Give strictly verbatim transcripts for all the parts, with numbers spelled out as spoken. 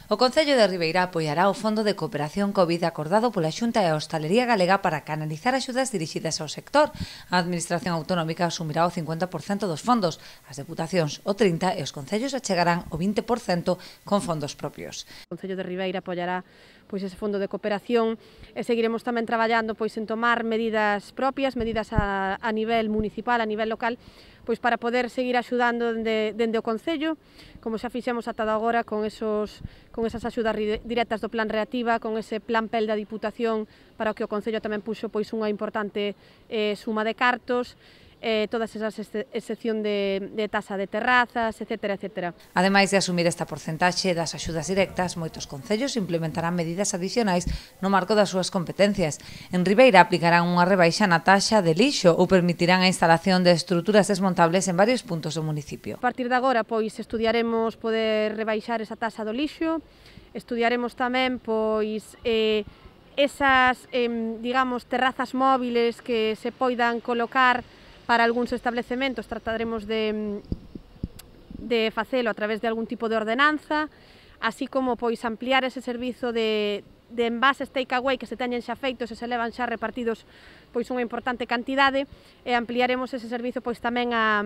O Concello de Ribeira apoiará o Fondo de Cooperación Covid acordado pola Xunta e a Hostalería Galega para canalizar axudas dirixidas ao sector. A Administración Autonómica asumirá o cincuenta por cento dos fondos, as deputacións o trinta por cento e os concellos achegarán o vinte por cento con fondos propios. O Concello de Ribeira apoiará pois ese fondo de cooperación e seguiremos tamén traballando pois en tomar medidas propias, medidas a, a nivel municipal, a nivel local, pois para poder seguir axudando dende, dende o Concello, como xa fixemos ata agora con, esos, con esas axudas directas do Plan Reactiva, con ese Plan P E L da Diputación, para o que o Concello tamén puxo pois unha importante eh, suma de cartos, eh, todas esas excepción de, de tasa de terrazas, etcétera, etcétera. Ademais de asumir esta porcentaxe das axudas directas, moitos concellos implementarán medidas adicionais no marco das súas competencias. En Ribeira aplicarán unha rebaixa na taxa de lixo ou permitirán a instalación de estruturas desmontables en varios puntos do municipio. A partir de agora, pois, estudiaremos poder rebaixar esa taxa do lixo, estudiaremos tamén, pois, eh, esas, eh, digamos, terrazas móviles que se poidan colocar para algúns establecementos. Trataremos de, de facelo a través de algún tipo de ordenanza, así como pois ampliar ese servizo de, de envases take-away que se teñen xa feitos e se levan xa repartidos pois unha importante cantidade, e ampliaremos ese servizo pois tamén a,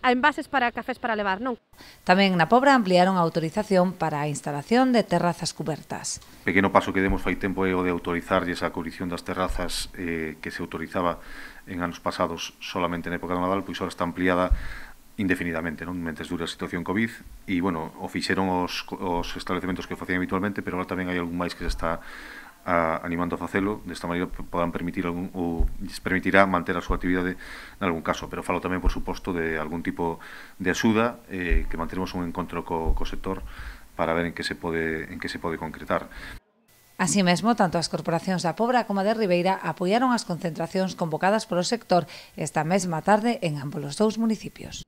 a envases para cafés para levar, non? Tamén na Pobra ampliaron a autorización para a instalación de terrazas cubertas. O pequeno paso que demos fai tempo é o de autorizarlle esa cubrición das terrazas eh, que se autorizaba en anos pasados solamente na época do Nadal, pois agora está ampliada indefinidamente, non? Mentes dura a situación COVID, e, bueno, o fixeron os, os establecementos que o facían habitualmente, pero agora tamén hai algún máis que se está a, animando a facelo, desta maneira podan permitir algún, ou lles permitirá manter a súa actividade en algún caso, pero falo tamén, por suposto, de algún tipo de axuda, eh, que manteremos un encontro co, co sector para ver en que se pode, en que se pode concretar. Así mesmo, tanto as corporacións da Pobra como a de Ribeira apoiaron as concentracións convocadas polo sector esta mesma tarde en ambos os dous municipios.